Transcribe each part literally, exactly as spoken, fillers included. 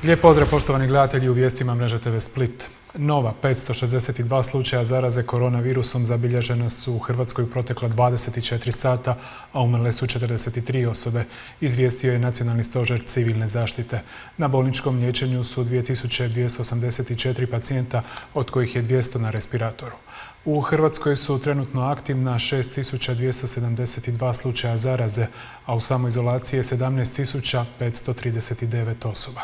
Lijep pozdrav poštovani gledatelji u vijestima Mreže te ve Split. Nova petsto šezdeset dva slučaja zaraze koronavirusom zabilježena su u Hrvatskoj u protekla dvadeset četiri sata, a umrle su četrdeset tri osobe, izvijestio je Nacionalni stožer civilne zaštite. Na bolničkom liječenju su dvije tisuće dvjesto osamdeset četiri pacijenta, od kojih je dvjesto na respiratoru. U Hrvatskoj su trenutno aktivna šest tisuća dvjesto sedamdeset dva slučaja zaraze, a u samoizolaciji je sedamnaest tisuća petsto trideset devet osoba.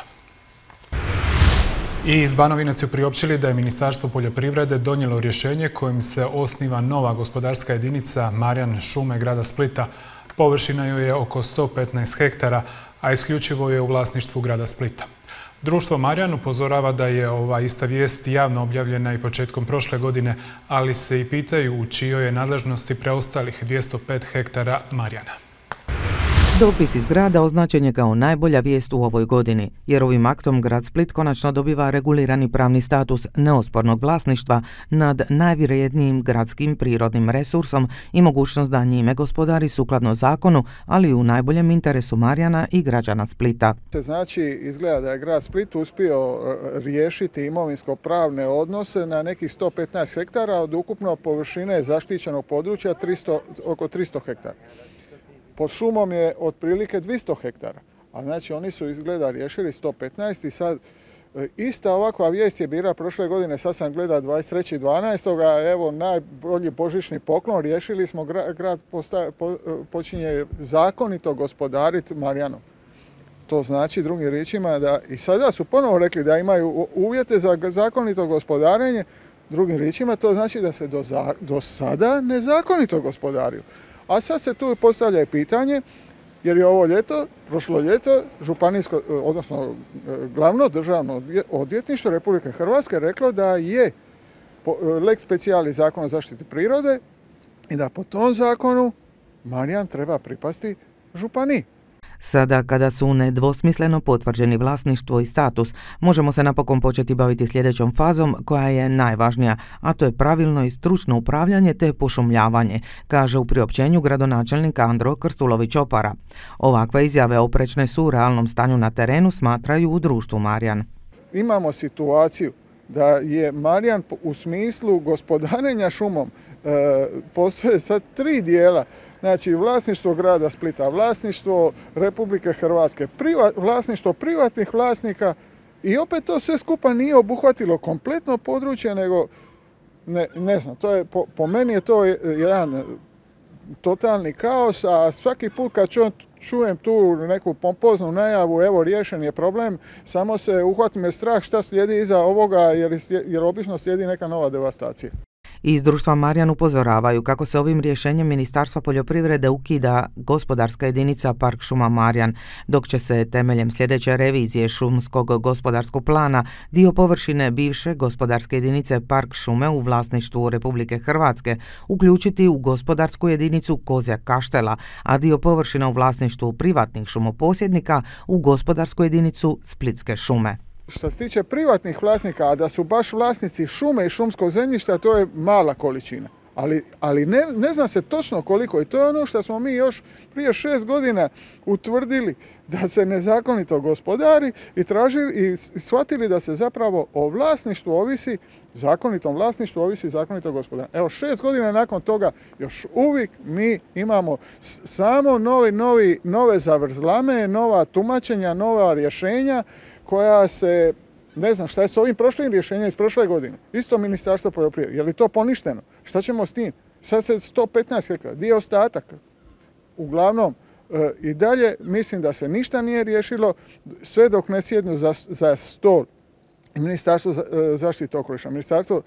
I iz Banovine su priopćili da je Ministarstvo poljoprivrede donijelo rješenje kojim se osniva nova gospodarska jedinica Marjan šume grada Splita. Površina joj je oko sto petnaest hektara, a isključivo je u vlasništvu grada Splita. Društvo Marjan upozorava da je ova ista vijest javno objavljena i početkom prošle godine, ali se i pitaju u čijoj je nadležnosti preostalih dvjesto pet hektara Marjana. Dopis iz grada označen je kao najbolja vijest u ovoj godini, jer ovim aktom grad Split konačno dobiva regulirani pravni status neospornog vlasništva nad najvrijednijim gradskim prirodnim resursom i mogućnost da njime gospodari sukladno zakonu, ali i u najboljem interesu Marjana i građana Splita. Znači, izgleda da je grad Split uspio riješiti imovinsko-pravne odnose na nekih sto petnaest hektara od ukupno površine zaštićenog područja tristo, oko tristo hektara. Pod šumom je otprilike dvjesto hektara, a znači oni su izgleda riješili sto petnaest i sad ista ovakva vijest je bila prošle godine, sad sam gleda dvadeset trećeg dvanaestog evo najbolji božićni poklon, riješili smo grad posta, po, počinje zakonito gospodariti Marjanom. To znači drugim riječima da i sada su ponovo rekli da imaju uvjete za zakonito gospodarenje, drugim riječima to znači da se do, do sada nezakonito gospodariju. A sad se tu postavlja pitanje, jer je ovo ljeto, prošlo ljeto, županijsko, odnosno glavno državno odvjetništvo Republike Hrvatske reklo da je lex specialis zakon o zaštiti prirode i da po tom zakonu Marjan treba pripasti županiji. Sada, kada su nedvosmisleno potvrđeni vlasništvo i status, možemo se napokon početi baviti sljedećom fazom koja je najvažnija, a to je pravilno i stručno upravljanje te pošumljavanje, kaže u priopćenju gradonačelnika Andro Krstulović-Opara. Ovakve izjave oprečne su u realnom stanju na terenu, smatraju u društvu Marjan. Imamo situaciju da je Marjan u smislu gospodarenja šumom e, postoje sad tri dijela. Znači, vlasništvo grada Splita, vlasništvo Republike Hrvatske, priva, vlasništvo privatnih vlasnika i opet to sve skupa nije obuhvatilo kompletno područje, nego, ne, ne znam, to je, po, po meni je to jedan totalni kaos, a svaki put kad ču, čujem tu neku pompoznu najavu, evo riješen je problem, samo se uhvati me strah šta slijedi iza ovoga, jer, jer obično slijedi neka nova devastacija. Iz društva Marjan upozoravaju kako se ovim rješenjem Ministarstva poljoprivrede ukida gospodarska jedinica Park šuma Marjan, dok će se temeljem sljedeće revizije šumskog gospodarskog plana dio površine bivše gospodarske jedinice Park šume u vlasništvu Republike Hrvatske uključiti u gospodarsku jedinicu Kozjak Kaštela, a dio površina u vlasništvu privatnih šumoposjednika u gospodarsku jedinicu Splitske šume. Što se tiče privatnih vlasnika, a da su baš vlasnici šume i šumskog zemljišta, to je mala količina. Ali, ali ne, ne zna se točno koliko i to je ono što smo mi još prije šest godina utvrdili da se nezakonito gospodari i tražili i shvatili da se zapravo o vlasništvu ovisi, zakonitom vlasništvu ovisi zakonito gospodarenje. Evo šest godina nakon toga još uvijek mi imamo samo novi, novi, nove zavrzlame, nova tumačenja, nova rješenja koja se, ne znam šta je s ovim prošlim rješenjem iz prošle godine. Isto Ministarstvo poljoprivrede. Je li to poništeno? Šta ćemo s tim? Sad se sto petnaest hektara, dio ostataka. Uglavnom, e, i dalje mislim da se ništa nije riješilo, sve dok ne sjednu za, za stol Ministarstvo zaštite okoliša, Ministarstvo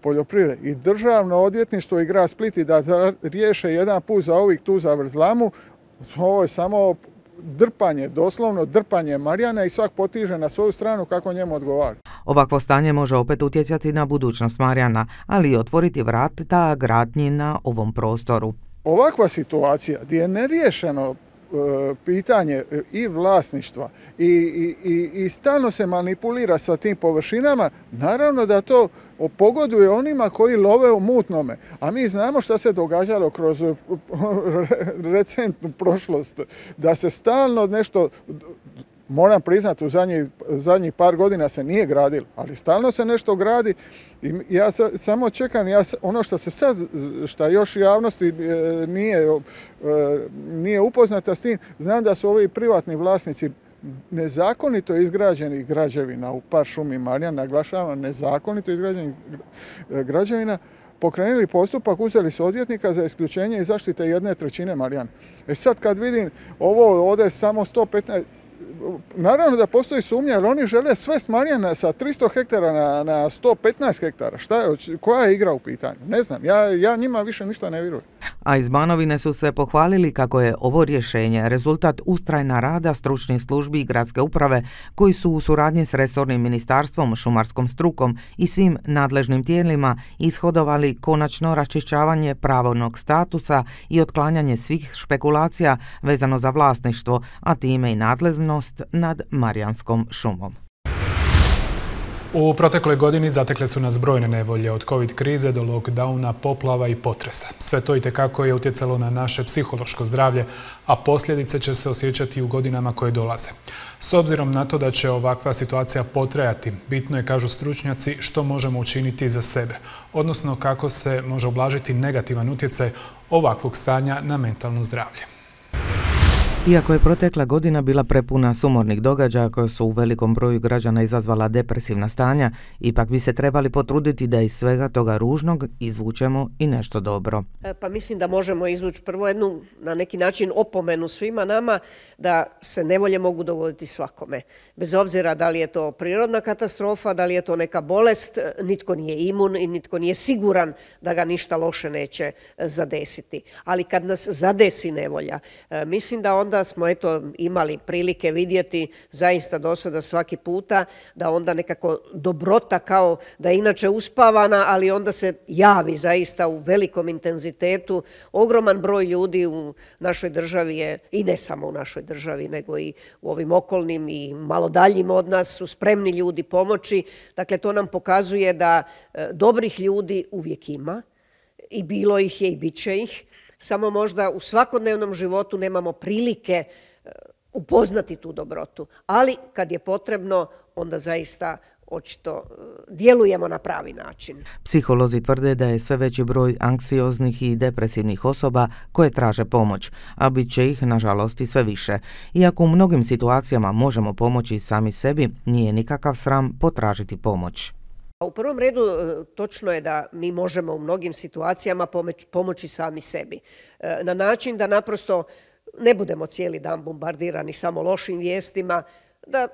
poljoprivrede i Državno odvjetništvo i grad Split i da riješe jedan put za ovih tu zavrzlamu, ovo je samo drpanje, doslovno drpanje Marjana i svak potiže na svoju stranu kako njemu odgovara. Ovakvo stanje može opet utjecati na budućnost Marjana, ali i otvoriti vrata gradnji na ovom prostoru. Ovakva situacija gdje je neriješeno pitanje i vlasništva i, i, i, i stalno se manipulira sa tim površinama, naravno da to pogoduje onima koji love u mutnome. A mi znamo šta se događalo kroz recentnu prošlost, da se stalno nešto moram priznati, u zadnjih zadnji par godina se nije gradilo, ali stalno se nešto gradi i ja sa, samo čekam, ja, ono što se sad, što još javnosti e, nije, e, nije upoznata s tim, znam da su ovi privatni vlasnici nezakonito izgrađenih građevina u Park šumi Marjan, naglašavam, nezakonito izgrađenih građevina, pokrenuli postupak, uzeli su odvjetnika za isključenje i zaštite jedne trećine Marjana. E sad kad vidim ovo ovdje samo sto petnaest, naravno da postoji sumnja, jer oni žele sve s Marjana sa tristo hektara na, na sto petnaest hektara. Šta je, koja je igra u pitanju? Ne znam, ja, ja njima više ništa ne vjerujem. A iz Banovine su se pohvalili kako je ovo rješenje rezultat ustrajna rada stručnih službi i gradske uprave koji su u suradnji s resornim ministarstvom, šumarskom strukom i svim nadležnim tijelima ishodovali konačno raščišćavanje pravnog statusa i otklanjanje svih špekulacija vezano za vlasništvo, a time i nadležnost nad Marjanskom šumom. U protekloj godini zatekle su nas brojne nevolje, od covid krize do lockdowna, poplava i potresa. Sve to itekako je utjecalo na naše psihološko zdravlje, a posljedice će se osjećati u godinama koje dolaze. S obzirom na to da će ovakva situacija potrajati, bitno je, kažu stručnjaci, što možemo učiniti za sebe, odnosno kako se može ublažiti negativan utjecaj ovakvog stanja na mentalno zdravlje. Iako je protekla godina bila prepuna sumornih događaja koje su u velikom broju građana izazvala depresivna stanja, ipak bi se trebali potruditi da iz svega toga ružnog izvučemo i nešto dobro. Pa mislim da možemo izvući prvo jednu, na neki način, opomenu svima nama da se nevolje mogu dogoditi svakome. Bez obzira da li je to prirodna katastrofa, da li je to neka bolest, nitko nije imun i nitko nije siguran da ga ništa loše neće zadesiti. Ali kad nas zadesi nevolja, mislim da onda da smo eto imali prilike vidjeti zaista do sada svaki puta da onda nekako dobrota kao da je inače uspavana, ali onda se javi zaista u velikom intenzitetu. Ogroman broj ljudi u našoj državi je, i ne samo u našoj državi, nego i u ovim okolnim i malo daljim od nas, su spremni ljudi pomoći. Dakle, to nam pokazuje da e, dobrih ljudi uvijek ima i bilo ih je i bit će ih. Samo možda u svakodnevnom životu nemamo prilike upoznati tu dobrotu. Ali kad je potrebno, onda zaista očito djelujemo na pravi način. Psiholozi tvrde da je sve veći broj anksioznih i depresivnih osoba koje traže pomoć, a bit će ih, nažalost, i sve više. Iako u mnogim situacijama možemo pomoći sami sebi, nije nikakav sram potražiti pomoć. U prvom redu točno je da mi možemo u mnogim situacijama pomoći sami sebi. Na način da naprosto ne budemo cijeli dan bombardirani samo lošim vijestima, da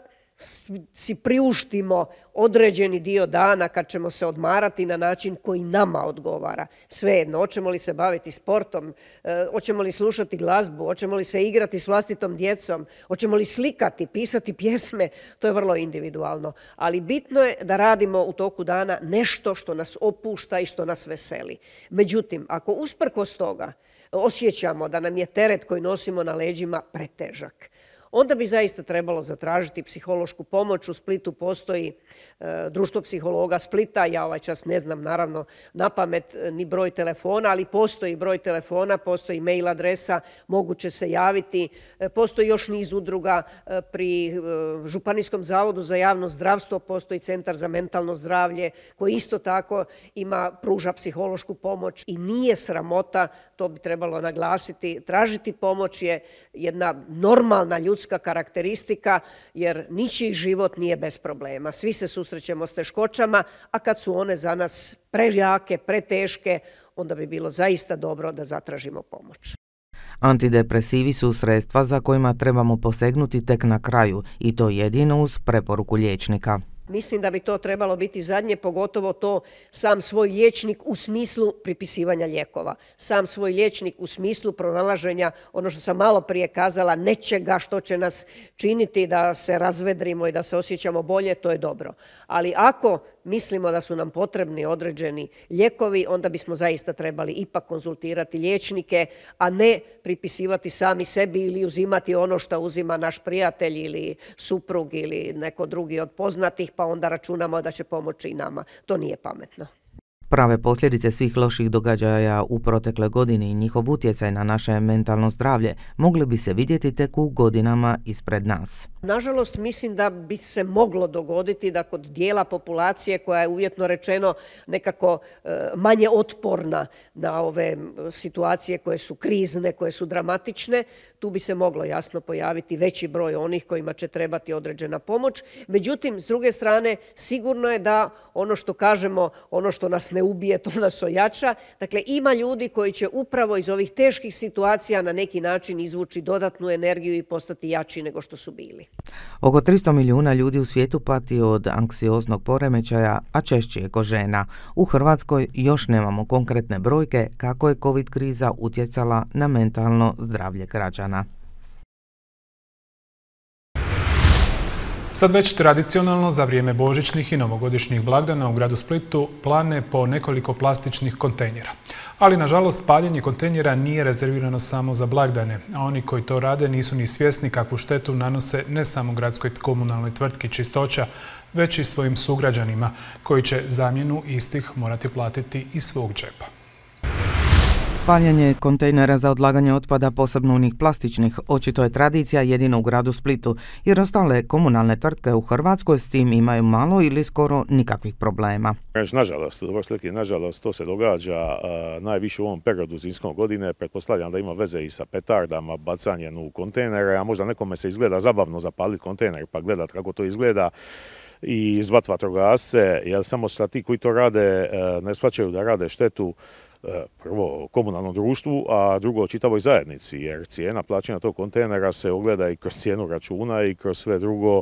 si priuštimo određeni dio dana kad ćemo se odmarati na način koji nama odgovara. Svejedno, hoćemo li se baviti sportom, hoćemo li slušati glazbu, hoćemo li se igrati s vlastitom djecom, hoćemo li slikati, pisati pjesme, to je vrlo individualno. Ali bitno je da radimo u toku dana nešto što nas opušta i što nas veseli. Međutim, ako usprkos toga osjećamo da nam je teret koji nosimo na leđima pretežak, onda bi zaista trebalo zatražiti psihološku pomoć. U Splitu postoji e, društvo psihologa Splita, ja ovaj čas ne znam naravno na pamet ni broj telefona, ali postoji broj telefona, postoji mail adresa, moguće se javiti. E, postoji još niz udruga e, pri e, Županijskom zavodu za javno zdravstvo, postoji Centar za mentalno zdravlje koji isto tako ima, pruža psihološku pomoć i nije sramota, to bi trebalo naglasiti. Tražiti pomoć je jedna normalna ljudska karakteristika, jer ničiji život nije bez problema. Svi se susrećemo s teškoćama, a kad su one za nas prejake, preteške, onda bi bilo zaista dobro da zatražimo pomoć. Antidepresivi su sredstva za kojima trebamo posegnuti tek na kraju, i to jedino uz preporuku liječnika. Mislim da bi to trebalo biti zadnje, pogotovo to sam svoj liječnik u smislu pripisivanja lijekova. Sam svoj liječnik u smislu pronalaženja, ono što sam malo prije kazala, nečega što će nas činiti da se razvedrimo i da se osjećamo bolje, to je dobro. Ali ako mislimo da su nam potrebni određeni lijekovi, onda bismo zaista trebali ipak konzultirati liječnike, a ne pripisivati sami sebi ili uzimati ono što uzima naš prijatelj ili suprug ili neko drugi od poznatih, pa onda računamo da će pomoći i nama. To nije pametno. Prave posljedice svih loših događaja u protekle godini i njihov utjecaj na naše mentalno zdravlje mogli bi se vidjeti tek u godinama ispred nas. Nažalost, mislim da bi se moglo dogoditi da kod dijela populacije koja je uvjetno rečeno nekako manje otporna na ove situacije koje su krizne, koje su dramatične, tu bi se moglo jasno pojaviti veći broj onih kojima će trebati određena pomoć. Međutim, s druge strane, sigurno je da ono što kažemo, ono što nas ne ubije, to nas ojača. Dakle, ima ljudi koji će upravo iz ovih teških situacija na neki način izvući dodatnu energiju i postati jači nego što su bili. Oko tristo milijuna ljudi u svijetu pati od anksioznog poremećaja, a češće je kod žena. U Hrvatskoj još nemamo konkretne brojke kako je COVID kriza utjecala na mentalno zdravlje građana. Sad već tradicionalno za vrijeme božićnih i novogodišnjih blagdana u gradu Splitu plane po nekoliko plastičnih kontejnera. Ali, nažalost, paljenje kontejnera nije rezervirano samo za blagdane, a oni koji to rade nisu ni svjesni kakvu štetu nanose ne samo gradskoj komunalnoj tvrtki Čistoća, već i svojim sugrađanima, koji će zamjenu istih morati platiti iz svog džepa. Paljenje kontejnera za odlaganje otpada, posebno onih plastičnih, očito je tradicija jedino u gradu Splitu, jer ostale komunalne tvrtke u Hrvatskoj s tim imaju malo ili skoro nikakvih problema. Nažalost, dobro slike, nažalost, to se događa a, najviše u ovom periodu zimskog godine. Pretpostavljam da ima veze i sa petardama, bacanjem u kontejnere, a možda nekome se izgleda zabavno zapaliti kontejner pa gledati kako to izgleda i zvat vatrogasce, jer samo što ti koji to rade ne shvaćaju da rade štetu prvo komunalnom društvu, a drugo čitavoj zajednici, jer cijena plaćanja tog kontejnera se ogleda i kroz cijenu računa i kroz sve drugo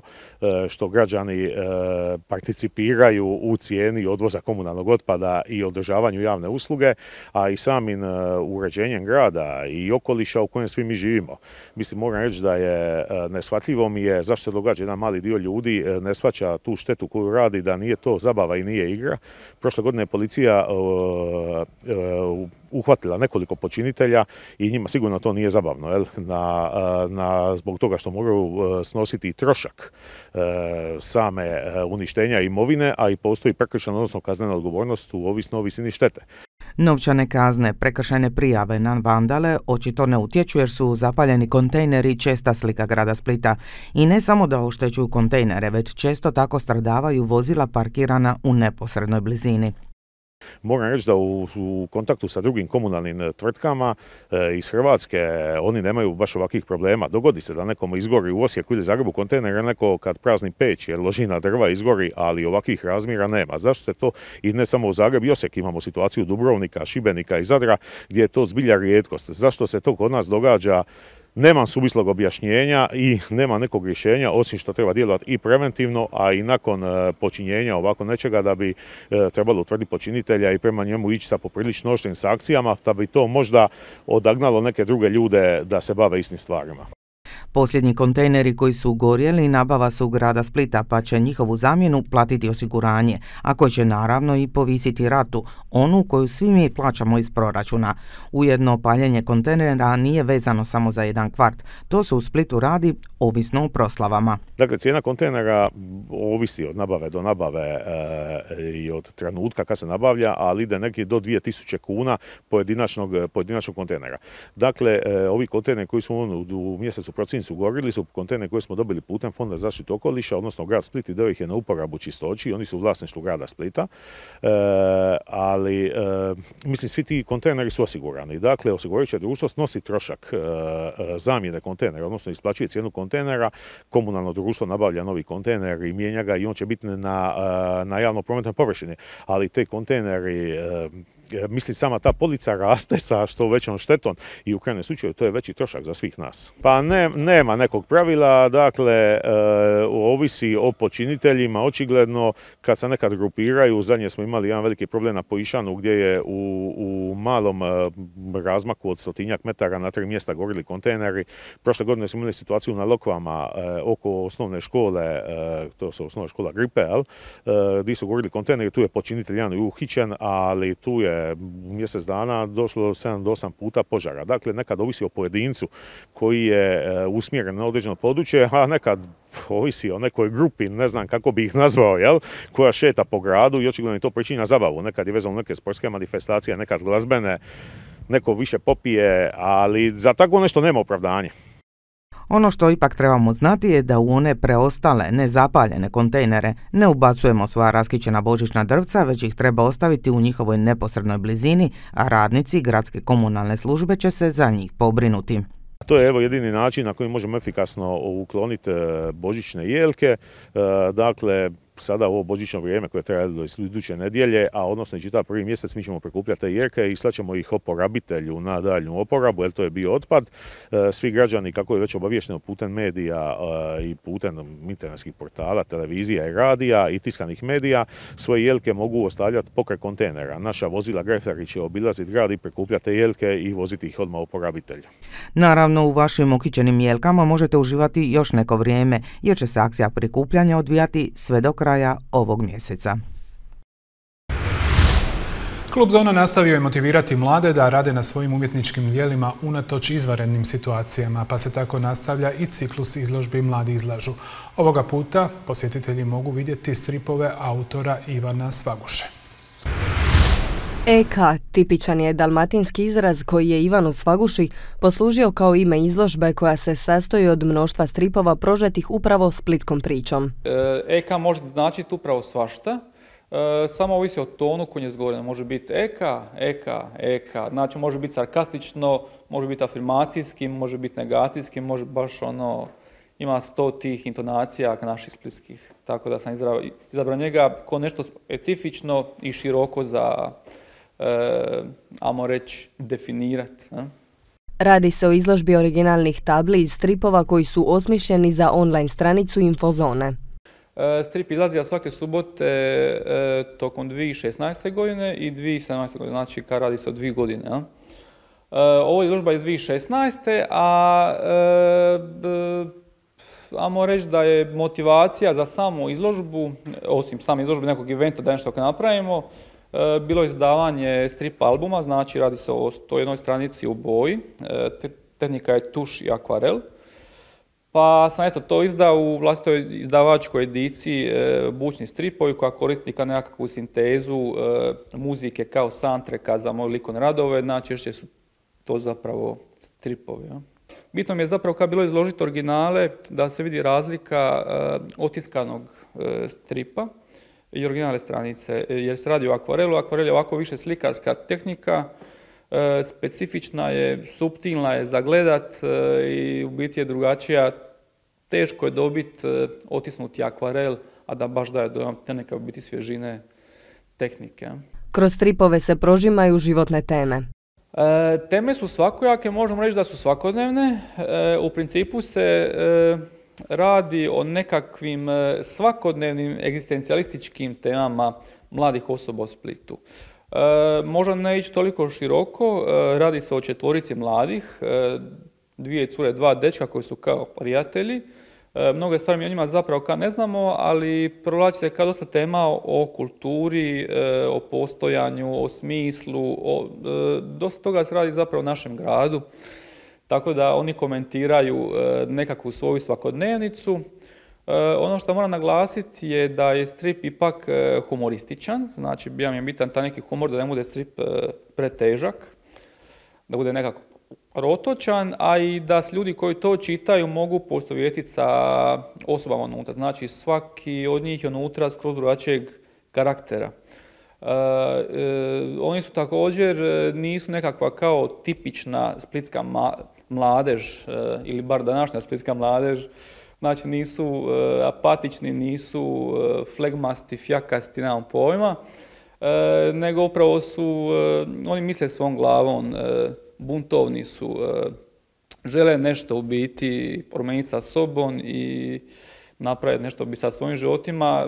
što građani participiraju u cijeni odvoza komunalnog otpada i održavanju javne usluge, a i samim uređenjem grada i okoliša u kojem svi mi živimo. Mislim, moram reći da je neshvatljivo mi je zašto se događa jedan mali dio ljudi ne shvaća tu štetu koju radi, da nije to zabava i nije igra. Prošle godine je policija uhvatila nekoliko počinitelja i njima sigurno to nije zabavno, jel? Na, na, zbog toga što moraju snositi trošak same uništenja imovine, a i postoji prekršajna, odnosno kaznena odgovornost u ovisno o visini štete. Novčane kazne, prekršajne prijave na vandale očito ne utječu jer su zapaljeni kontejneri česta slika grada Splita. I ne samo da oštećuju kontejnere, već često tako stradavaju vozila parkirana u neposrednoj blizini. Moram reći da u, u kontaktu sa drugim komunalnim tvrtkama e, iz Hrvatske oni nemaju baš ovakvih problema. Dogodi se da nekomu izgori u Osijeku ili Zagrebu kontejner, neko kad prazni peć jer loži na drva izgori, ali ovakvih razmjera nema. Zašto se to, i ne samo u Zagrebu i Osijek, imamo situaciju Dubrovnika, Šibenika i Zadra gdje je to zbilja rijetkost. Zašto se to kod nas događa? Nemam suvislog objašnjenja i nema nekog rješenja, osim što treba djelovati i preventivno, a i nakon počinjenja ovako nečega da bi trebalo utvrditi počinitelja i prema njemu ići sa poprilično oštrim sankcijama, da bi to možda odagnalo neke druge ljude da se bave istim stvarima. Posljednji kontejneri koji su gorjeli nabava su grada Splita, pa će njihovu zamjenu platiti osiguranje, a koji će naravno i povisiti ratu, onu koju svi mi plaćamo iz proračuna. Ujedno, paljenje kontejnera nije vezano samo za jedan kvart. To se u Splitu radi ovisno o proslavama. Dakle, cijena kontejnera ovisi od nabave do nabave e, i od trenutka kad se nabavlja, ali ide neki do dvije tisuće kuna pojedinačnog, pojedinačnog kontejnera. Dakle, e, ovi kontejneri koji su u, u mjesecu prosincu gorili su kontejneri koje smo dobili putem Fonda za zaštitu okoliša, odnosno grad Split i dao ih je na uporabu Čistoći, oni su u vlasništvu grada Splita, e, ali e, mislim svi ti kontejneri su osigurani. Dakle, osigurajuće društvo snosi trošak e, zamjene kontejnera, odnosno isplaćuje cijenu kontejnera, komunalno društvo nabavlja novi kontejner i mijenja ga i on će biti na, na javno prometnoj površini, ali te kontejneri, mislim, sama ta polica raste sa što većom štetom i u krajnjem slučaju to je veći trošak za svih nas. Pa ne, nema nekog pravila, dakle, e, ovisi o počiniteljima, očigledno kad se nekad grupiraju, zadnje smo imali jedan veliki problem na Pojišanu gdje je u, u malom e, razmaku od stotinjak metara na tri mjesta gorili kontejneri. Prošle godine smo imali situaciju na Lokvama e, oko osnovne škole, e, to su osnovna škola Gripe, e, gdje su gorili kontejneri, tu je počinitelj jedan uhićen, ali tu je u mjesec dana došlo sedam do osam puta požara. Dakle, nekad ovisi o pojedincu koji je usmjeren na određeno područje, a nekad ovisi o nekoj grupi, ne znam kako bi ih nazvao, jel, koja šeta po gradu i očigledno je to pričinja zabavu. Nekad je vezano neke sportske manifestacije, nekad glazbene, neko više popije, ali za tako nešto nema opravdanja. Ono što ipak trebamo znati je da u one preostale, nezapaljene kontejnere ne ubacujemo sva raskićena božićna drvca, već ih treba ostaviti u njihovoj neposrednoj blizini, a radnici gradske komunalne službe će se za njih pobrinuti. To je evo jedini način na koji možemo efikasno ukloniti božićne jelke. Dakle, sada ovo božićno vrijeme koje traje do iduće nedjelje, a odnosno i čitav prvi mjesec mi ćemo prikupljati te jelke i slaćemo ih oporabitelju na daljnju oporabu, jer to je bio otpad. Svi građani, kako je već obaviješteno putem medija i putem internetskih portala, televizija i radija i tiskanih medija, svoje jelke mogu ostavljati pokraj kontejnera. Naša vozila Grefari će obilaziti grad i prikupljati te jelke i voziti ih odmah oporabitelju. Naravno, u vašim okićenim jelkama možete uživati još neko vrijeme, jer će se akcija prikupljanja odvijati sve do kraja ovog mjeseca. Klub Zona nastavio je motivirati mlade da rade na svojim umjetničkim djelima unatoč izvanrednim situacijama, pa se tako nastavlja i ciklus izložbi Mladi izlažu. Ovoga puta posjetitelji mogu vidjeti stripove autora Ivana Svaguše. Eka, tipičan je dalmatinski izraz koji je Ivanu Svaguši poslužio kao ime izložbe koja se sastoji od mnoštva stripova prožetih upravo splitskom pričom. Eka može značiti upravo svašta, samo ovisi o tonu koji je izgovoren. Može biti eka, eka, eka, znači može biti sarkastično, može biti afirmacijski, može biti negacijski, može baš ono, ima sto tih intonacija naših splitskih. Tako da sam izabrao njega kao nešto specifično i široko za E, ajmo reći, definirati. Ne? Radi se o izložbi originalnih tabli iz stripova koji su osmišljeni za online stranicu Infozone. E, strip izlazi svake subote e, tokom dvije tisuće šesnaeste. godine i dvije tisuće sedamnaeste. godine, znači kad radi se o dvije godine. E, ovo je izložba iz dvije tisuće šesnaeste. a e, b, ajmo reći da je motivacija za samu izložbu, osim same izložbe nekog eventa da nešto napravimo, bilo je izdavanje strip albuma, znači radi se o sto jednoj stranici u boji, tehnika je tuš i akvarel. Pa sam eto to izdao u vlastitoj izdavačkoj ediciji Bučni stripovi koja koristi kao nekakvu sintezu muzike kao soundtracka za moje likovne radove, znači još su to zapravo stripovi. Ja. Bitno mi je zapravo kad bilo izložiti originale da se vidi razlika otiskanog stripa i originalne stranice, jer se radi o akvarelu. Akvarel je ovako više slikarska tehnika, e, specifična je, suptilna je za gledat e, i u biti je drugačija. Teško je dobiti e, otisnuti akvarel, a da baš daje dojam te neke u biti svježine tehnike. Kroz stripove se prožimaju životne teme. E, teme su svakojake, možemo reći da su svakodnevne. E, u principu se e, radi o nekakvim svakodnevnim egzistencijalističkim temama mladih osoba u Splitu. E, možda ne ići toliko široko, e, radi se o četvorici mladih, e, dvije cure, dva dečka koji su kao prijatelji. E, mnoge stvari mi o njima zapravo kao ne znamo, ali provlači se kao dosta tema o kulturi, e, o postojanju, o smislu, o, e, dosta toga se radi zapravo u našem gradu. Tako da oni komentiraju e, nekakvu svoju svakodnevnicu. E, ono što moram naglasiti je da je strip ipak e, humorističan, znači bija mi je bitan taj neki humor da ne bude strip e, pretežak, da bude nekako protočan, a i da s ljudi koji to čitaju mogu poistovjetiti sa osobama unutra. Znači svaki od njih je unutra skroz drugačijeg karaktera. Uh, uh, oni su također, nisu nekakva kao tipična splitska ma mladež, uh, ili bar današnja splitska mladež, znači nisu uh, apatični, nisu uh, flegmasti, fjakasti, nemam pojma, uh, nego upravo su, uh, oni misle svom glavom, uh, buntovni su, uh, žele nešto u biti promijeniti sa sobom i napraviti nešto bi sa svojim životima.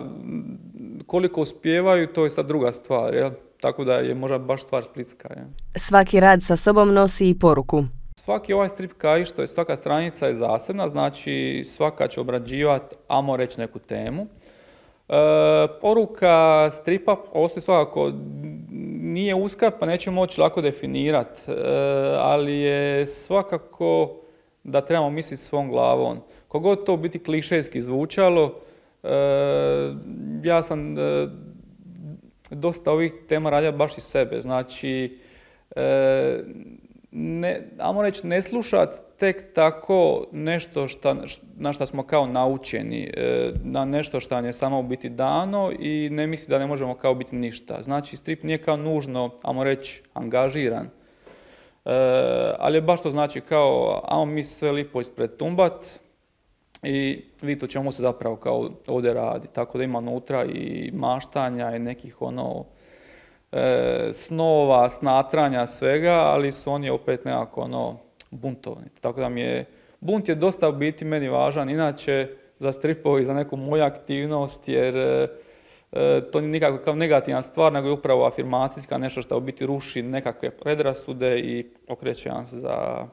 Koliko uspijevaju, to je sad druga stvar, jel? Tako da je možda baš stvar splitska. Jel? Svaki rad sa sobom nosi i poruku. Svaki ovaj strip kao što je svaka stranica je zasebna, znači svaka će obrađivati, ajmo reći, neku temu. E, poruka stripa ostaje svakako, nije uska pa neće moći lako definirati, e, ali je svakako da trebamo misliti svom glavom. Kogod to biti klišejski zvučalo, e, ja sam e, dosta ovih tema radio baš iz sebe. Znači, e, ne, ajmo reći, ne slušati tek tako nešto šta, na što smo kao naučeni, na nešto što nam je samo u biti dano i ne misli da ne možemo kao biti ništa. Znači, strip nije kao nužno, ajmo reći, angažiran, ali je baš to znači kao, ajmo mi sve lipo ispred tumbat i vidite o čemu se zapravo kao ovdje radi. Tako da ima unutra i maštanja i nekih ono, E, snova, snatranja, svega, ali su oni opet nekako ono, buntovni. Tako da mi je, bunt je dosta u biti meni važan, inače za stripovi, za neku moju aktivnost, jer e, to nije nikako kao negativna stvar, nego je upravo afirmacijska, nešto što u biti ruši nekakve predrasude i okreće nas za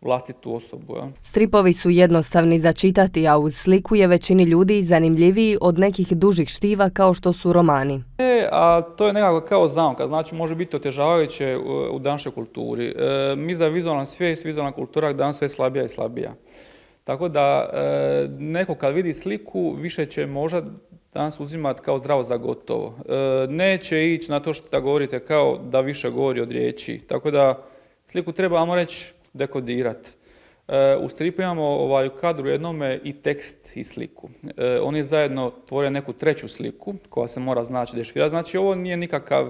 vlastitu osobu. Ja. Stripovi su jednostavni za čitati, a uz sliku je većini ljudi zanimljiviji od nekih dužih štiva kao što su romani. E, a to je nekako kao zamka, znači može biti otežavajuće u, u današnjoj kulturi. E, mi za vizualna svijest, vizualna kultura danas sve slabija i slabija. Tako da e, neko kad vidi sliku više će možda danas uzimati kao zdravo za gotovo. E, neće ići na to što govorite kao da više govori od riječi. Tako da sliku treba, ajmo reći, dekodirati. E, u stripu imamo ovaj, u kadru jednome i tekst i sliku. E, oni zajedno tvore neku treću sliku koja se mora znači dešifrirati. Znači ovo nije nikakav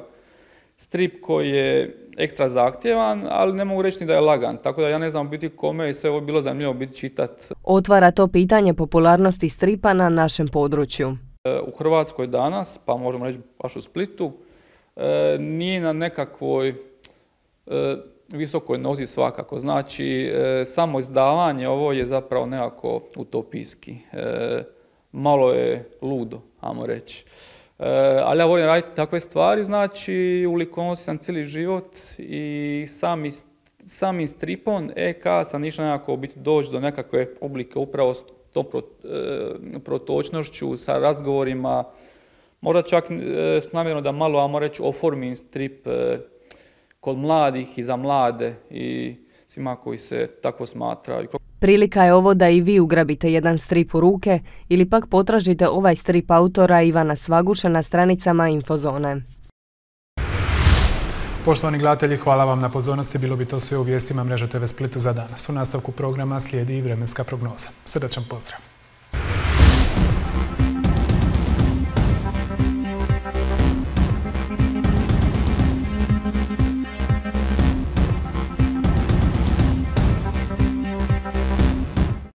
strip koji je ekstra zahtjevan, ali ne mogu reći ni da je lagan. Tako da ja ne znam biti kome i sve ovo bilo zanimljivo biti čitati. Otvara to pitanje popularnosti stripa na našem području. E, u Hrvatskoj danas, pa možemo reći baš u Splitu, e, nije na nekakvoj e, visokoj nozi svakako. Znači, e, samo izdavanje ovo je zapravo nekako utopijski. E, malo je ludo, ajmo reći. E, ali ja volim raditi takve stvari, znači u likovnosti sam cijeli život i sami, samim stripom E K sam išao nekako biti doći do nekakve publike upravo s tom pro, e, protočnošću, sa razgovorima, možda čak e, s namjerom da malo, ajmo reći, oformim strip e, kod mladih i za mlade i svima koji se tako smatraju. Prilika je ovo da i vi ugrabite jedan strip u ruke ili pak potražite ovaj strip autora Ivana Svaguše na stranicama Infozone. Poštovani gledatelji, hvala vam na pozornosti. Bilo bi to sve u vijestima Mreže T V Split za danas. U nastavku programa slijedi i vremenska prognoza. Srdačan pozdrav!